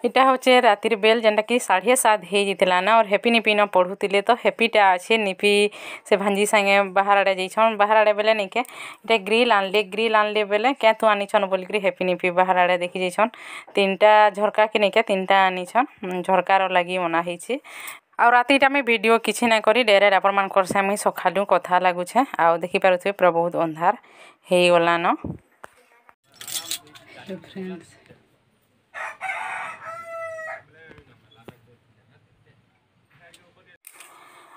ଏଟା ହଉଛେ ରାତିର ବେଲ୍ ଯେନ୍ଟାକି 7:30 ହେଇଯାଇଥିଲା ନା और ହେପି ନିପି ନ ପଢ଼ୁଥିଲେ ତ ହେପିଟା ଅଛେ ନିପି ସେ ଭାଞ୍ଜି ସାଙ୍ଗେ ବାହାର ଆଡ଼େ ଯାଇଛନ୍। ବାହାର ଆଡ଼େ ବେଲେ ନିକେ ଏଟା ଗ୍ରିଲ୍ ଆନଲେ, ଗ୍ରିଲ୍ ଆନଲେ ବେଲେ କେଁ ତୁ ଆନିଛନ୍ ବୋଲିକରି ହେପି ନିପି ବାହାର ଆଡ଼େ ଦେଖି ଯାଇଛନ୍। ତିନଟା ଝରକା କି ନିକେ ତିନଟା ଆନିଛନ୍, ଝରକାର ଲାଗି ମନା ହେଇଛି। ଆଉ ରାତିଟା ମୁଇଁ ଭିଡ଼ିଓ କିଛି ନାଇଁ କରି ଡାଇରେକ୍ଟ ଆପଣମାନଙ୍କର ସାଙ୍ଗେ ମୁଇଁ ସକାଳୁ କଥା ଲାଗୁଛେ। ଆଉ ଦେଖିପାରୁଥିବେ ପୁରା ବହୁତ ଅନ୍ଧାର ହେଇଗଲାନ। ଫ୍ରେଣ୍ଡସ୍,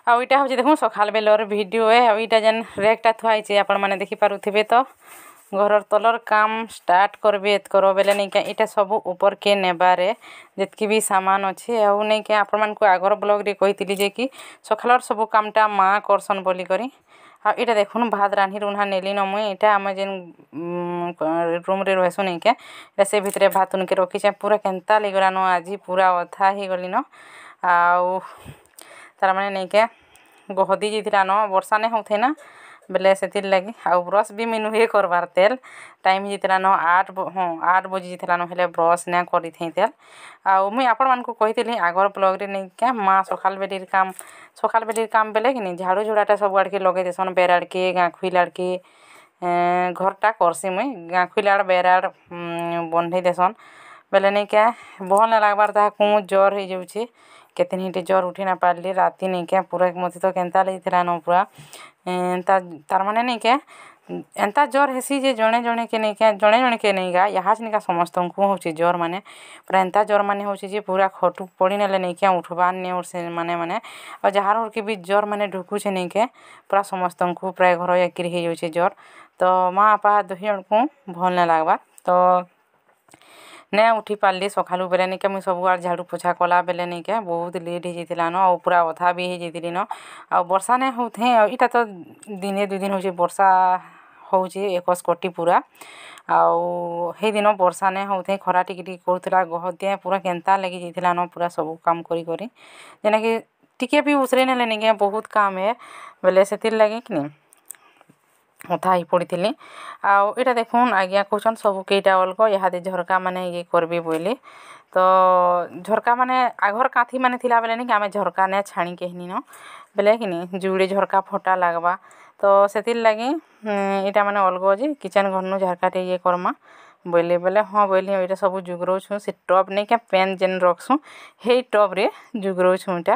ଆଉ ଏଇଟା ହଉଛି ଦେଖୁନ୍ ସକାଳ ବେଲର ଭିଡ଼ିଓ ଏ। ଆଉ ଏଇଟା ଯେନ୍ ରେକ୍ଟା ଥୁଆ ହେଇছে ଆପଣମାନେ ଦେଖିପାରୁଥିବେ। ତ ଘରର ତଲର କାମ ଷ୍ଟାର୍ଟ କରବେ ଏତକର ବେଲେ ନେଇକେ ଏଇଟା ସବୁ ଉପରକେ ନେବାରେ ଯେତ୍କି ବି ସାମାନ ଅଛି। ଆଉ ନେଇକେ ଆପଣମାନଙ୍କୁ ଆଗର ବ୍ଲଗ୍ରେ କହିଥିଲି ଯେ କି ସକାଳର ସବୁ କାମଟା ମା କରସନ୍ ବୋଲିକରି। ଆଉ ଏଇଟା ଦେଖୁନ୍ ଭାତ ରାନ୍ଧି ରୁନ୍ଧା ନେଲି ନ ମୁଇଁ। ଏଇଟା ଆମେ ଯେନ୍ ରୁମ୍ରେ ରହେସୁଁ ନେଇକେ ଏଇଟା ସେ ଭିତରେ ଭାତ ଉନକେ ରଖିଛେ। ପୁରା କେନ୍ତା ଲାଗିଗଲାନ ଆଜି ପୁରା ଅଧା ହେଇଗଲିନ। ଆଉ ତାର ମାନେ ନେଇକେ ଗହଦି ଯାଇଥିଲା ନ, ବର୍ଷା ନାଇଁ ହଉଥେ ନା ବେଲେ ସେଥିର୍ ଲାଗି। ଆଉ ବ୍ରସ୍ ବି ମୁଇଁ ନୁହେଁ କରବାର୍ ତେଲ୍ ଟାଇମ୍ ହେଇଯାଇଥିଲା ନ, 8, ହଁ 8 ବଜି ଯାଇଥିଲା ନ, ହେଲେ ବ୍ରସ୍ ନାଇଁ କରିଥେଇ ତେଲ୍। ଆଉ ମୁଇଁ ଆପଣମାନଙ୍କୁ କହିଥିଲି ଆଗର ବ୍ଲଗ୍ରେ ନେଇକେ ମା ସକାଳ ବେଲିର କାମ, ସକାଳ ବେଲିର କାମ ବେଲେ କିନି ଝାଡ଼ୁ ଝୁଡ଼ାଟା ସବୁ ଆଡ଼କେ ଲଗେଇ ଦେସନ୍, ବେର୍ ଆଡ଼କେ ଗାଁ ଖୁଇଲ ଆଡ଼କେ ଘରଟା କରସି ମୁଇଁ, ଗାଁ ଖୁଇଲ ଆଡ଼େ ବେର୍ ଆଡ଼େ ବନ୍ଧେଇ ଦେସନ୍ ବେଲେ ନେଇକେ ଭଲ୍ ନାଇଁ ଲାଗ୍ବାର୍ ତାହାକୁ ଜର୍ ହେଇଯାଉଛି। କେତେନି ହେଇଟେ ଜର୍ ଉଠି ନା ପାରିଲି ରାତି ନେଇକେ ପୁରା ମତେ ତ କେନ୍ତା ଲାଗିଥିଲା ନ ପୁରା ଏନ୍ତା। ତାର୍ ମାନେ ନେଇକେ ଏନ୍ତା ଜର୍ ହେସି ଯେ ଜଣେ ଜଣେକେ ନେଇକେ, ଜଣେ ଜଣେକେ ନେଇକା ଇହାଚିନିକା ସମସ୍ତଙ୍କୁ ହଉଛି ଜର୍, ମାନେ ପୁରା ଏନ୍ତା ଜର୍ ମାନେ ହଉଛି ଯେ ପୁରା ଖଟୁ ପଡ଼ି ନେଲେ ନେଇକେ ଉଠବାର୍ ନେ ସେ ମାନେ ମାନେ। ଆଉ ଯାହାର କି ବି ଜର୍ ମାନେ ଢୁକୁଛେ ନେଇକେ ପୁରା ସମସ୍ତଙ୍କୁ ପ୍ରାୟ ଘର ଏକିରି ହେଇଯାଉଛି ଜର୍। ତ ମା ବାପା ଦୁହି ଜଣକୁ ଭଲ୍ ନାଇଁ ଲାଗ୍ବାର୍, ତ ନାଇଁ ଉଠି ପାରିଲି ସକାଳୁ ବେଲେ ନେଇକେ ମୁଇଁ ସବୁଆଡ଼େ ଝାଡ଼ୁ ପୋଛା କଲା ବେଲେ ନେଇକେ ବହୁତ ଲେଟ୍ ହେଇଯାଇଥିଲା ନ, ଆଉ ପୁରା ଅଧା ବି ହେଇଯାଇଥିଲି ନ। ଆଉ ବର୍ଷା ନାଇଁ ହଉଥେଁ, ଆଉ ଇଟା ତ ଦିନେ ଦୁଇ ଦିନ ହଉଛି ବର୍ଷା ହଉଛି ଏକସ୍ କଟି ପୁରା। ଆଉ ହେଇଦିନ ବର୍ଷା ନାଇଁ ହଉଥେଁ, ଖରା ଟିକେ ଟିକେ କରୁଥିଲା, ଗହଦିଆ ପୁରା କେନ୍ତା ଲାଗି ଯାଇଥିଲା ନ ପୁରା ସବୁ କାମ କରି କରି, ଯେନ୍ଟାକି ଟିକେ ବି ଉସରେଇ ନେଲେ ନିକେ ବହୁତ କାମ ହେ ବେଲେ ସେଥିର୍ ଲାଗି କିନି ଅଧା ହେଇ ପଡ଼ିଥିଲି। ଆଉ ଏଇଟା ଦେଖୁନ୍ ଆଜ୍ଞା କହୁଛନ୍ ସବୁ କେଇଟା ଅଲଗ ଇହାଦେ ଝରକା ମାନେ ଇଏ କରବେ ବୋଇଲେ। ତ ଝରକା ମାନେ ଆଘର କାନ୍ଥି ମାନେ ଥିଲା ବେଲେ ନିକେ ଆମେ ଝରକା ନାଇଁ ଛାଣି କେହିନିନ ବେଲେ କିନି ଯୁଡ଼େ ଝରକା ଫଟା ଲାଗ୍ବା, ତ ସେଥିର୍ ଲାଗି ଏଇଟା ମାନେ ଅଲଗ ଯେ କିଚେନ୍ ଘରନୁ ଝରକାଟେ ଇଏ କର୍ମା ବୋଇଲେ ବେଲେ ହଁ ବୋଇଲି। ଏଇଟା ସବୁ ଯୁଗରଉଛୁଁ ସେ ଟପ୍ ନେଇକେ ପେନ୍ ଯେନ୍ ରଖ୍ସୁଁ ହେଇ ଟପ୍ରେ ଯୁଗରଉଛୁଁ ଏଇଟା।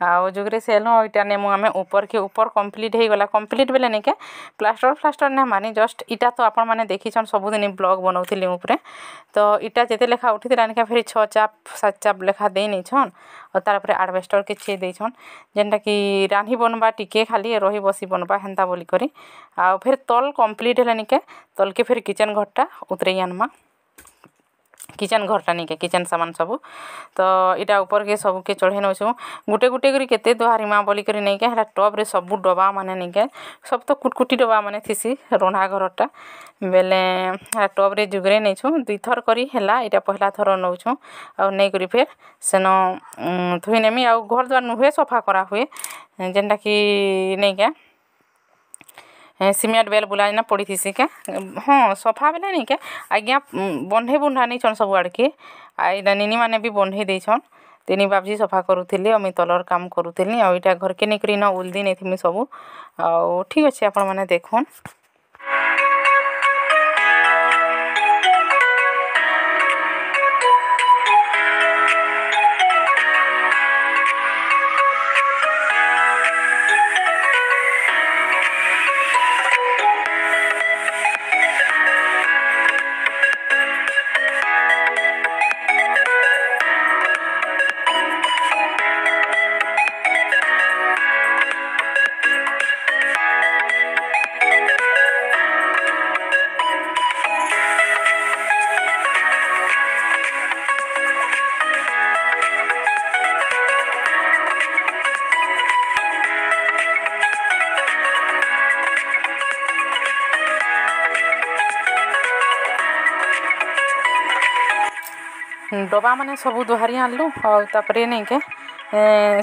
ଆଉ ଯୁଗରେ ସେଲୁ ଏଇଟା ନେମୁ ଆମେ ଉପରକେ, ଉପର କମ୍ପ୍ଲିଟ୍ ହେଇଗଲା। କମ୍ପ୍ଲିଟ୍ ବେଲେ ନେଇକେ ପ୍ଲାଷ୍ଟର ଫ୍ଲାଷ୍ଟର ନାଇଁ ମାନି ଜଷ୍ଟ ଇଟା ତ ଆପଣମାନେ ଦେଖିଛନ୍ ସବୁଦିନ ବ୍ଲଗ୍ ବନଉଥିଲି ଉପରେ। ତ ଇଟା ଯେତେ ଲେଖା ଉଠିଥିଲା ନିକେ ଫେରି 6 ଚାପ 7 ଚାପ ଲେଖା ଦେଇ ନେଇଛନ୍, ଆଉ ତାର ଉପରେ ଆଡ଼ବେଷ୍ଟର କିଛି ଦେଇଛନ୍ ଯେନ୍ଟାକି ରାନ୍ଧି ବନବା ଟିକେ ଖାଲି ରହି ବସି ବନବା ହେନ୍ତା ବୋଲିକରି। ଆଉ ଫେର୍ ତଲ୍ କମ୍ପ୍ଲିଟ୍ ହେଲେ ନିକେ ତଲ୍କେ ଫେର୍ କିଚେନ୍ ଘରଟା ଉତରେଇ ଆନମା, କିଚେନ୍ ଘରଟା ନିକେ କିଚେନ୍ ସାମାନ ସବୁ। ତ ଏଇଟା ଉପରକେ ସବୁକେ ଚଢ଼େଇ ନଉଛୁଁ ଗୁଟେ ଗୁଟେ କରି କେତେ ଦୁହାରିମା ବୋଲିକରି ନେଇକେ ହେଟା ଟପ୍ରେ ସବୁ ଡବା ମାନେ ନେଇକେ ସବୁ ତ କୁଟକୁଟି ଡବା ମାନେ ଥିସି ରନ୍ଧା ଘରଟା ବେଲେ ହେଟା ଟପ୍ରେ ଯୁଗରେ ନେଇଛୁଁ। ଦୁଇଥର କରି ହେଲା, ଏଇଟା ପହିଲା ଥର ନଉଛୁଁ। ଆଉ ନେଇକରି ଫେର୍ ସେନ ଥୋଇ ନେମି। ଆଉ ଘର ଦ୍ୱାର ନୁହେଁ ସଫା କରା ହୁଏ ଯେନ୍ଟାକି ନେଇକେ ସିମେଣ୍ଟ ବେଲ୍ ବୁଲା ଯେନା ପଡ଼ିଥିସି କେ, ହଁ ସଫା ବେଲେ ନେଇକେ ଆଜ୍ଞା ବନ୍ଧେଇ ବୁନ୍ଧା ନେଇଛନ୍ ସବୁ ଆଡ଼କେ। ଆଉ ଏଇଟା ନିନି ମାନେ ବି ବନ୍ଧେଇ ଦେଇଛନ୍, ତିନି ବାପଜି ସଫା କରୁଥିଲି ଆଉ ମୁଇଁ ତଲର କାମ କରୁଥିଲି। ଆଉ ଏଇଟା ଘରକେ ନେଇକରି ଇନ ଉଲ୍ଦି ନେଇଥିମି ସବୁ। ଆଉ ଠିକ୍ ଅଛି ଆପଣମାନେ ଦେଖୁନ୍। ଡବା ମାନେ ସବୁ ଦୁହାରି ଆଣିଲୁ। ଆଉ ତାପରେ ନେଇକେ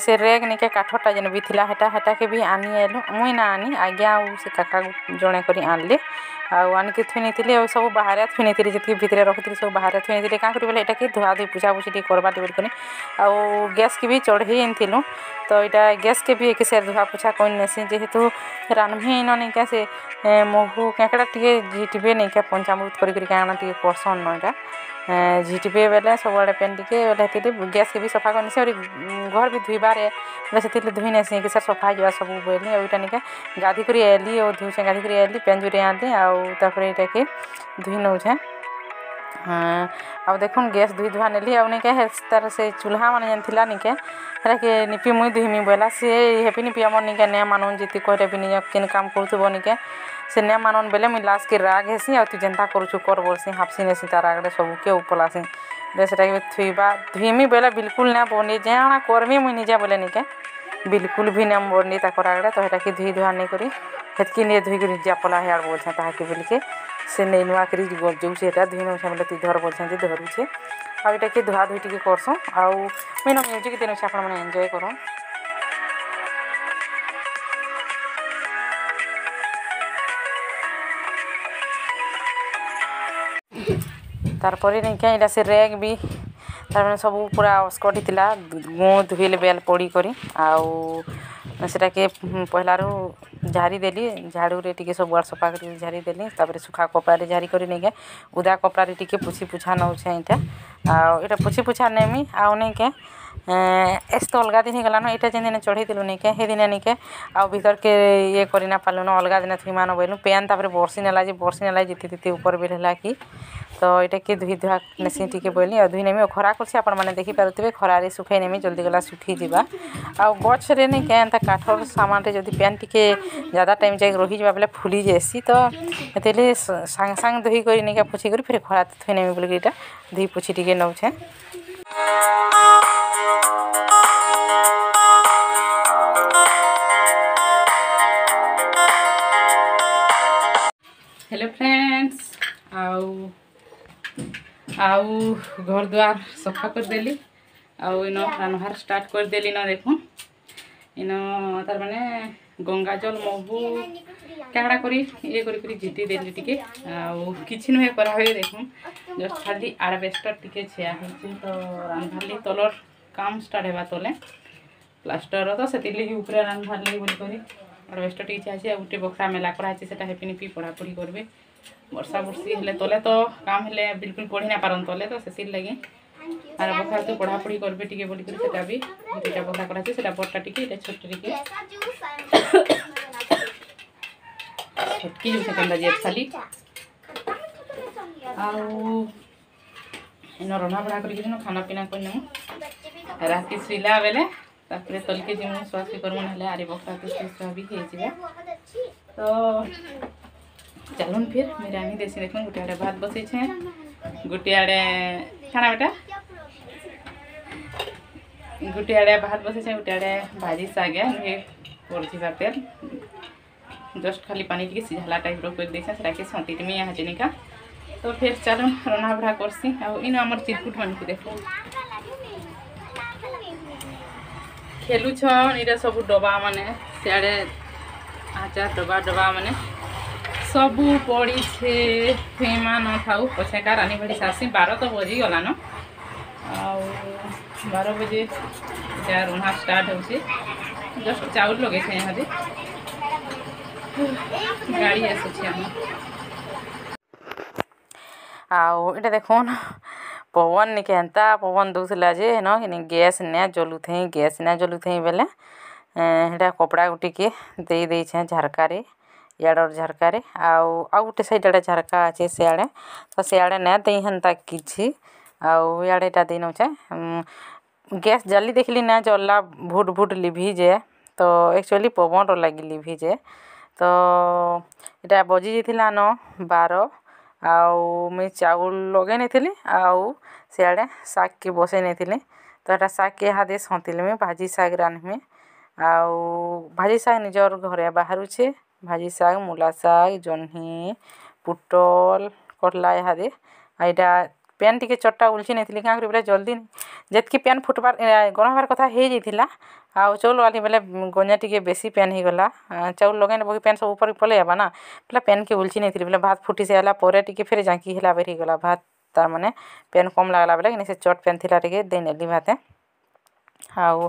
ସେ ରେକ୍ ନେଇକେ କାଠଟା ଯେନ୍ ବି ଥିଲା ହେଟାକେ ବି ଆନି ଆଇଲୁ। ମୁଇଁ ନା ଆନି ଆଜ୍ଞା ଆଉ ସେ କାକା ଜଣେ କରି ଆଣିଲେ। ଆଉ ଆଣିକି ଥୁଇ ନେଇଥିଲି ଆଉ ସବୁ ବାହାରେ ଥୁଇ ନେଇଥିଲି ଯେତିକି ଭିତରେ ରଖିଥିଲି ସବୁ ବାହାରେ ଥୁଇ ନେଇଥିଲି କାଁ କରି ବୋଲେ ଏଇଟା କି ଧୁଆ ଧୁଇ ପୁଛା ପୁଛି ଟିକେ କରବା ଟିକେ ବୋଲିକରି ଆଉ ଗ୍ୟାସ୍କେ ବି ଚଢ଼େଇ ଆଣିଥିଲୁ ତ ଏଇଟା ଗ୍ୟାସ୍କେ ବି ଏକେ ସେ ଧୁଆ ପୁଛା କରି ନେସି ଯେହେତୁ ରାନ୍ଧି ନ ନିକା ସେ ମହୁ କାଁକଡ଼ା ଟିକେ ଝିଟିବେ ନେଇକା ପଞ୍ଚାମୃତ କରି କରି କାଣା ଟିକେ କରସନ୍ ନ ଏଇଟା ଝିଟିବେ ବେଲେ ସବୁଆଡ଼େ ପେନ୍ ଟିକେ ବେଲେ ହେଥିରେ ଗ୍ୟାସ୍କେ ବି ସଫା କରିନେସି ଆହୁରି ଘର୍ ବି ଧୁଇବାରେ ବେଲେ ସେଥିରେ ଧୁଇ ନେସି କି ସାର୍ ସଫା ହେଇଯିବା ସବୁ ବୋଇଲି ଆଉ ଏଇଟା ନିକା ଗାଧି କରି ଆଇଲି ଆଉ ଧୁଇଛେଁ ଗାଧି କରି ଆଇଲି ପେନ୍ ଜୁରି ଆଣିଲି ଆଉ ତାପରେ ଏଇଟାକେ ଧୁଇ ନଉଛେଁ। ଆଉ ଦେଖୁନ୍ ଗ୍ୟାସ୍ ଧୁଇ ଧୁଆ ନେଲି ଆଉ ନିକେ ତାର ସେ ଚୁଲ୍ହା ମାନେ ଯେନ୍ ଥିଲା ନିକେ ହେଟାକେ ନିପି ମୁଇଁ ଧୁଇମି ବୋଇଲା ସେ ହେପି ନିପି ଆମର୍ ନିକେ ନେ ମାନୁନ୍ ଯେତେ କହିଲେ ବି ନିଜେ କେନ୍ କାମ୍ କରୁଥିବ ନିକେ ସେ ନେ ମାନୁନ୍ ବେଲେ ମୁଇଁ ଲାଷ୍ଟକେ ରାଗ୍ ହେସି ଆଉ ତୁଇ ଯେନ୍ତା କରୁଛୁ କର୍ ବୋଲସି ହାପ୍ସି ନେସି ତାର୍ ଆଗରେ ସବୁକେ ଉପଲାସି ବେଲେ ସେଟାକେ ଥୁଇବା ଧୁଇମି ବେଲେ ବିଲକୁଲ୍ ନାଇଁ ବନି ଜାଣା କର୍ମି ମୁଇଁ ନିଜେ ବୋଲେ ନିକେ ବିଲକୁଲ୍ ବି ନାଇଁ ବନି ତାକର୍ ଆଗରେ ତ ହେଟାକେ ଧୁଇ ଧୁଆ ନେଇକରି ହେତ୍କି ନେ ଧୁଇକରି ଯା ପଲା ହିଆଡ଼େ ବୋଲଛେଁ ତାହାକେ ବୋଲିକେ ସେ ନେଇ ନୂଆ କରି ଯାଉଛେ ହେଟା ଧୁଇ ନଉଛେଁ ବେଲେ ତୁଇ ଧର୍ ବୋଲଛେଁ ଯେ ଧରୁଛେ ଆଉ ଏଇଟାକେ ଧୁଆ ଧୁଇ ଟିକେ କରସୁଁ ଆଉ ମୁଇଁ ନ ମ୍ୟୁଜିକ୍ ଦେଇନଉଛେ ଆପଣମାନେ ଏନ୍ଜୟ କରୁନ୍। ତାରପରେ ନିକେ ଏଇଟା ସେ ରେକ୍ ବି ତାରମାନେ ସବୁ ପୁରା ଅସ୍କଟ୍ ହେଇଥିଲା ଗୁଁ ଧୁଇଲେ ବେଲ୍ ପଡ଼ି କରି ଆଉ ସେଟାକେ ପହିଲାରୁ ଝାରି ଦେଲି ଝାଡ଼ୁରେ ଟିକେ ସବୁଆଡ଼େ ସଫା କରି ଝାରି ଦେଲି ତାପରେ ଶୁଖା କପଡ଼ାରେ ଝାରି କରି ନେଇକେ ଉଦା କପଡ଼ାରେ ଟିକେ ପୁଛି ପୁଛା ନଉଛେଁ ଏଇଟା ଆଉ ଏଇଟା ପୁଛି ପୁଛା ନେମି ଆଉ ନେଇକେ ଏସ୍ ତ ଅଲଗା ଦିନ ହେଇଗଲାନ ଏଇଟା ଯେନ୍ ଦିନେ ଚଢ଼େଇଥିଲୁ ନେଇକେ ହେ ଦିନେ ନେଇକେ ଆଉ ଭିତରକେ ଇଏ କରି ନା ପାରିଲୁନ ଅଲଗା ଦିନେ ଥୁଇମାନ ବୋଇଲୁ ପେନ୍ ତାପରେ ବର୍ଷି ନେଲା ଯେ ବର୍ଷି ନେଲା ଯେତେ ଯେତେ ଉପରେ ବେଲ୍ ହେଲା କି ତ ଏଇଟା କି ଧୁଇ ଧୁଆ ନେସି ଟିକେ ବୋଇଲି ଆଉ ଧୁଇ ନେମି ଆଉ ଖରା କରୁଛି ଆପଣମାନେ ଦେଖିପାରୁଥିବେ ଖରାରେ ଶୁଖେଇ ନେମି ଜଲ୍ଦି ଗଲା ଶୁଖିଯିବା। ଆଉ ଗଛରେ ନେଇକେ ଏନ୍ତା କାଠର ସାମାନରେ ଯଦି ପେନ୍ ଟିକେ ଜ୍ୟାଦା ଟାଇମ୍ ଯାଇକି ରହିଯିବା ବେଲେ ଫୁଲି ଯାଏସି ତ ହେଥିର୍ଲାଗି ସାଙ୍ଗେ ସାଙ୍ଗେ ଧୁଇ କରି ନେଇକେ ପୁଛି କରି ଫେର୍ ଖରା ଥୁଇ ନେମି ବୋଲିକି ଏଇଟା ଧୁଇ ପୁଛି ଟିକେ ନଉଛେଁ। ହ୍ୟାଲୋ ଫ୍ରେଣ୍ଡସ୍, ଆଉ ଆଉ ଘର ଦ୍ୱାର ସଫା କରିଦେଲି ଆଉ ଇନ ରାନ୍ଧବାର୍ ଷ୍ଟାର୍ଟ କରିଦେଲି ନ ଦେଖୁନ୍ ଇନ ତାର୍ ମାନେ ଗଙ୍ଗା ଜଲ ମହୁ କାଣା କରି ଇଏ କରି କରି ଝିଟି ଦେଲି ଟିକେ ଆଉ କିଛି ନୁହେଁ କରା ହୁଏ ଦେଖୁନ୍ ଜଷ୍ଟ ଖାଲି ଆଡ଼ବେଷ୍ଟର ଟିକେ ଛିଆ ହେଇଛି ତ ରାନ୍ଧବାର୍ ତଲର କାମ ଷ୍ଟାର୍ଟ ହେବା ତଲେ ପ୍ଲାଷ୍ଟର ତ ସେଥିର୍ଲାଗି ଉପରେ ରାନ୍ଧବାର୍ ଲାଗି ବୋଲିକରି ଆଡ଼ବେଷ୍ଟର ଟିକେ ଛିଆ ହେଇଛି ଆଉ ଗୋଟେ ବଖରା ମେଲା କରାହେଇଛି ସେଟା ହେପି ନିପି ପଢ଼ାପଢ଼ି କରିବେ ବର୍ଷା ବର୍ଷି ହେଲେ ତଲେ ତ କାମ ହେଲେ ବିଲକୁଲ ପଢ଼ି ନା ପାରନ୍ ତଲେ ତ ସେଥିର୍ଲାଗି ଆର ବଖରା ତ ପଢ଼ାପଢ଼ି କରିବେ ଟିକେ ବୋଲିକରି ସେଟା ବି ଦୁଇଟା ବଖରା କରାହେଇଛି ସେଟା ବଡ଼ଟା ଟିକେ ଏଇଟା ଛୋଟ ଟିକେ ଛଟକି ଯାଉଛେ କେନ୍ତା ଯେ ଖାଲି ଆଉ ଏନ ରନ୍ଧା ବଢ଼ା କରିକି ଖାନା ପିନା କରିନେମୁ ରାତି ଶୋଇଲା ବେଲେ ତାପରେ ତଲକେ ଯିମୁ ଶୁଆଶୁଇ କରମୁ ନହେଲେ ଆରି ବଖରା ତ ଶୁଆ ବି ହେଇଯିବା ତ ଚାଲୁନ୍ ଫିର୍ ମୁଇଁ ରାନ୍ଧି ଦେସି ଦେଖୁନ୍ ଗୋଟେ ଆଡ଼େ ଭାତ ବସେଇଛେଁ ଗୋଟେ ଆଡ଼େ କାଣା ବେଟା ଗୋଟେ ଆଡ଼େ ଭାତ ବସେଇଛେଁ ଗୋଟେ ଆଡ଼େ ଭାଜି ଶାଗ ନୁହେଁ ପଡ଼ିଥିବା ତେଲ ଜଷ୍ଟ ଖାଲି ପାନି ଟିକେ ସିଝାଲା ଟାଇପ୍ର କରିଦେଇଛେଁ ସେଟାକେ ସନ୍ତିଟମି ଇହାଚିନିକା ତ ଫେର୍ ଚାଲୁନ୍ ରନ୍ଧା ବଢ଼ା କରସି ଆଉ ଇନୁ ଆମର୍ ଚିରକୁଟ ମାନଙ୍କୁ ଦେଖୁନ୍ ଖେଲୁଛନ୍ ଏଇଟା ସବୁ ଡବା ମାନେ ସିଆଡ଼େ ଆଚାର ଡବା ଡବା ମାନେ ସବୁ ପଡ଼ିଛେ ଫେମା ନଥାଉ ପଛେକା ରାନୀ ବାଡ଼ି ସାରସି 12 ତ ବଜିଗଲାନ ଆଉ 12 ବଜେ ଏଇଟା ରନ୍ଧା ଷ୍ଟାର୍ଟ ହଉଛି ଜଷ୍ଟ ଚାଉଳ ଲଗେଇଛେ ଇହାଦେ ଗାଡ଼ି ଆସୁଛି ଆମ। ଆଉ ଏଇଟା ଦେଖୁନ୍ ପବନ ନିକେ ଏନ୍ତା ପବନ ଦଉଥିଲା ଯେ ହେନ କିନି ଗ୍ୟାସ୍ ନାଇଁ ଜଲୁଥେଇଁ ଗ୍ୟାସ୍ ନାଇଁ ଜଲୁଥେଇଁ ବେଲେ ହେଟା କପଡ଼ା ଗୁଟିକେ ଦେଇ ଦେଇଛେଁ ଝରକାରେ ଇଆଡ଼ର ଝରକାରେ ଆଉ ଆଉ ଗୋଟେ ସାଇଡ଼୍ ଆଡ଼େ ଝରକା ଅଛି ସିଆଡ଼େ ତ ସିଆଡ଼େ ନାଇଁ ଦେଇ ହେନ୍ତା କିଛି ଆଉ ଇଆଡ଼େ ଏଇଟା ଦେଇ ନଉଛେଁ। ଗ୍ୟାସ୍ ଜାଲି ଦେଖିଲି ନା ଜଲ୍ଲା ଭୁଟ୍ ଭୁଟ୍ ଲିଭିଯାଏ ତ ଆକ୍ଚୁଆଲି ପବନର ଲାଗି ଲିଭିଯାଏ ତ ଏଇଟା ବଜି ଯାଇଥିଲା ନ 12 ଆଉ ମୁଇଁ ଚାଉଳ ଲଗେଇ ନେଇଥିଲି ଆଉ ସିଆଡ଼େ ଶାଗ୍କେ ବସେଇ ନେଇଥିଲି ତ ଏଟା ଶାଗ୍କେ ଇହାଦେ ସନ୍ତିଲମି ଭାଜି ଶାଗ୍ ରାନ୍ଧ୍ମି ଆଉ ଭାଜି ଶାଗ୍ ନିଜର ଘରେ ବାହାରୁଛେ ଭାଜି ଶାଗ୍ ମୂଲା ଶାଗ୍ ଜହ୍ନି ପୁଟଲ୍ କର୍ଲା ଇହାଦେ ଆଉ ଏଇଟା ପ୍ୟାନ୍ ଟିକେ ଚଟ୍ଟା ଉଲ୍ଚି ନେଇଥିଲି। କାଁ କରି ବେଲେ ଜଲ୍ଦି ଯେତ୍କି ପ୍ୟାନ୍ ଫୁଟ୍ବାର୍ ଗରମ୍ ହେବାର୍ କଥା ହେଇଯାଇଥିଲା। ଆଉ ଚାଉଲ୍ ବାଲି ବେଲେ ଗଞ୍ଜା ଟିକେ ବେଶୀ ପ୍ୟାନ୍ ହେଇଗଲା। ଚାଉଲ୍ ଲଗେଇ ନେବ କି ପ୍ୟାନ୍ ସବୁ ଉପରେ ପଲେଇ ଆଇବା ନା, ବେଲେ ପ୍ୟାନ୍କେ ଉଲ୍ଚି ନେଇଥିଲି। ବେଲେ ଭାତ୍ ଫୁଟି ସାରିଲା ପରେ ଟିକେ ଫେର୍ ଜାଙ୍କି ହେଲା ବେରି ହେଇଗଲା ଭାତ୍, ତାର୍ ମାନେ ପ୍ୟାନ୍ କମ୍ ଲାଗ୍ଲା ବେଲେ କିନି ସେ ଚଟ୍ ପ୍ୟାନ୍ ଥିଲା ଟିକେ ଦେଇନେଲି ଭାତେ। ଆଉ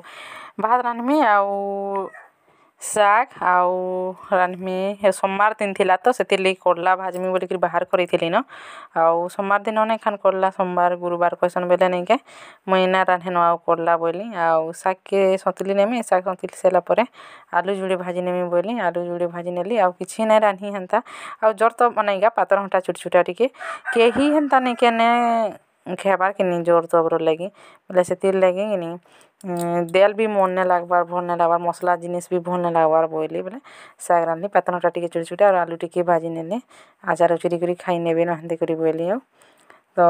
ଭାତ୍ ରାନ୍ଧ୍ମି ଆଉ ଶାଗ୍ ଆଉ ରାନ୍ଧ୍ମି। ସୋମବାର ଦିନ ଥିଲା ତ ସେଥିର୍ଲାଗି କର୍ଲା ଭାଜ୍ମି ବୋଲିକିରି ବାହାର କରିଥିଲି ନ। ଆଉ ସୋମବାର ଦିନ ନାଇଁ ଖାନ୍ କର୍ଲା, ସୋମବାର ଗୁରୁବାର କହେସନ୍ ବେଲେ ନାଇକେ ମୁଇଁ ନା ରାନ୍ଧେନ ଆଉ କର୍ଲା ବୋଇଲି। ଆଉ ଶାଗ୍କେ ସନ୍ତୁଲି ନେମି, ଶାଗ୍ ସନ୍ତୁଲି ସାରିଲା ପରେ ଆଲୁ ଯୁଡ଼େ ଭାଜି ନେମି ବୋଇଲି, ଆଲୁ ଯୁଡ଼େ ଭାଜି ନେଲି। ଆଉ କିଛି ନାଇଁ ରାନ୍ଧି ହେନ୍ତା। ଆଉ ଜର୍ ତ ମାନେ ପାତର୍ ଘଣ୍ଟା ଛୋଟ୍ ଛୋଟା ଟିକେ କେହି ହେନ୍ତା ନାଇଁ କେନେ ଖାଏବାର୍ କି ନି ଜର୍ ତବର ଲାଗି ବେଲେ ସେଥିର୍ ଲାଗି କିନି ଦେଲ୍ ବି ମନ୍ ନାଇଁ ଲାଗ୍ବାର୍, ଭଲ୍ ନାଇଁ ଲାଗ୍ବାର୍, ମସ୍ଲା ଜିନିଷ୍ ବି ଭଲ୍ ନାଇଁ ଲାଗ୍ବାର୍ ବୋଇଲି। ବେଲେ ଶାଗ୍ ରାନ୍ଧ୍ଲି, ପାତର୍ ଘଣ୍ଟା ଟିକେ ଛୋଟ୍ ଛୋଟା ଆଉ ଆଲୁ ଟିକେ ଭାଜି ନେଲି, ଆଚାର୍ ଉଚୁରି କରି ଖାଇ ନେବେ ନ ହେନ୍ତି କରି ବୋଇଲି। ଆଉ ତ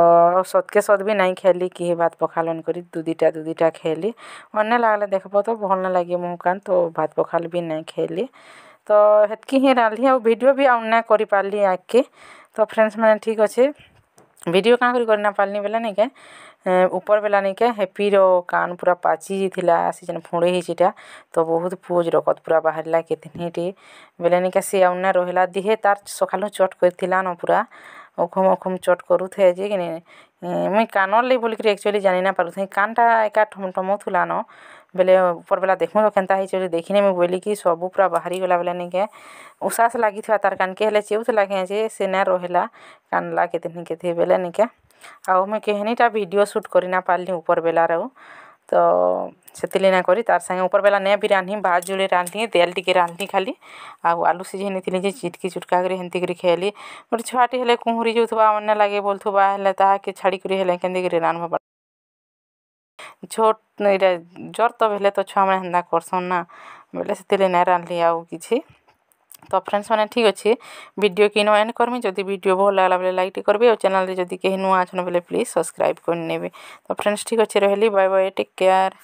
ସତ୍କେ ସତ୍ ବି ନାଇଁ ଖେଲି କେହି ଭାତ୍ ପଖାଲ୍ କରି, ଦୁଇ ଦୁଇଟା ଖେଲି। ମନେ ଲାଗ୍ଲେ ଦେଖ୍ବ ତ ଭଲ୍ ନାଇଁ ଲାଗେ ମୁହଁ କାନ୍, ତ ଭାତ୍ ପଖାଲ୍ ବି ନାଇଁ ଖେଲି। ତ ହେତ୍କି ହିଁ ରାନ୍ଧ୍ଲି ଆଉ ଭିଡ଼ିଓ ବି ଆଉ ନାଇଁ କରିପାର୍ଲି ଆଗ୍କେ। ତ ଫ୍ରେଣ୍ଡସ୍ ମାନେ ଠିକ୍ ଅଛେ, ଭିଡ଼ିଓ କାଁ କରି କରି ନାଇଁ ପାର୍ଲି ବେଲେ ନାଇକେ ଉପର୍ ବେଲା ନାଇକେ ହେପିର କାନ୍ ପୁରା ପାଚି ଯାଇଥିଲା, ସେ ଯେନ୍ ଫୁଡ଼େଇ ହେଇଛିଟା ତ ବହୁତ୍ ପୁଜ୍ ରକତ୍ ପୁରା ବାହାରିଲା କେତ୍ନିଟେ ବେଲେ ନିକେ ସେ ଆଉ ନାଇଁ ରହେଲା ଦିହେ। ତାର୍ ସକାଲୁ ଚଟ୍ କରିଥିଲା ନ, ପୁରା ଅଖୁମ୍ ଅଖୁମ୍ ଚଟ୍ କରୁଥାଏ ଯେ କିନି ମୁଇଁ କାନର୍ ଲାଗି ବୋଲିକିରି ଆକ୍ଚୁଆଲି ଜାନି ନାଇଁ ପାରୁଥାଇ। କାନ୍ଟା ଏକା ଠମ୍ ଠମଉଥିଲା ନ ବେଲେ ଉପର୍ ବେଲା ଦେଖୁଁ ତ କେନ୍ତା ହେଇଛେ ବୋଲି ଦେଖିନେମି ବୋଲିକି ସବୁ ପୁରା ବାହାରିଗଲା ବେଲେ ନିକେ ଉଷାସ୍ ଲାଗିଥିବା ତାର୍ କାନ୍କେ ହେଲେ ଚେଉଥିଲା କେଁ ଯେ ସେ ନାଇଁ ରହେଲା, କାନ୍ଦ୍ଲା କେତ୍ନି କେତେ ବେଲେ ନିକେ। ଆଉ ମୁଇଁ କେହେନିଟା ଭିଡ଼ିଓ ସୁଟ୍ କରି ନାଇଁ ପାର୍ଲି ଉପର୍ ବେଲାର। ଆଉ ତ ସେଥିର୍ଲାଗି ନାଇଁ କରି ତାର୍ ସାଙ୍ଗେ ଉପର୍ ବେଲା ନାଇଁ ବି ରାନ୍ଧି, ଭାତ୍ ଯୁଡ଼େ ରାନ୍ଧ୍ଲି, ତେଲ୍ ଟିକେ ରାନ୍ଧ୍ଲି ଖାଲି, ଆଉ ଆଲୁ ସିଝେଇ ନେଇଥିଲି ଯେ ଚିଟ୍କି ଚୁଟ୍କା କରି ହେନ୍ତି କରି ଖେଲି। ଗୋଟେ ଛୁଆଟେ ହେଲେ କୁହୁଁରି ଯାଉଥିବା, ମନେ ଲାଗେ ବୋଲୁଥିବା ହେଲେ ତାହାକେ ଛାଡ଼ିକରି ହେଲେ କେନ୍ତି କରି ରାନ୍ଧ୍ବ? ଛୋଟ୍ ଏଇଟା ଜର୍ ତ ହେଲେ ତ ଛୁଆମାନେ ହେନ୍ତା କର୍ସନ୍ ନା, ବେଲେ ସେଥିର୍ଲାଗି ନାଇଁ ରାନ୍ଧ୍ଲି ଆଉ କିଛି। ତ ଫ୍ରେଣ୍ଡସ୍ ମାନେ ଠିକ୍ ଅଛି, ଭିଡ଼ିଓ କି ନ ଏଣ୍ଡ କର୍ମି। ଯଦି ଭିଡ଼ିଓ ଭଲ୍ ଲାଗ୍ଲା ବେଲେ ଲାଇକ୍ ଟିକେ କରିବେ, ଆଉ ଚ୍ୟାନେଲ୍ରେ ଯଦି କେହି ନୂଆ ଅଛନ୍ ବେଲେ ପ୍ଲିଜ୍ ସବସ୍କ୍ରାଇବ୍ କରିନେବେ। ତ ଫ୍ରେଣ୍ଡସ୍ ଠିକ୍ ଅଛି, ରହିଲି, ବାଏ ବାଏ, ଟେକ୍ କେୟାର୍।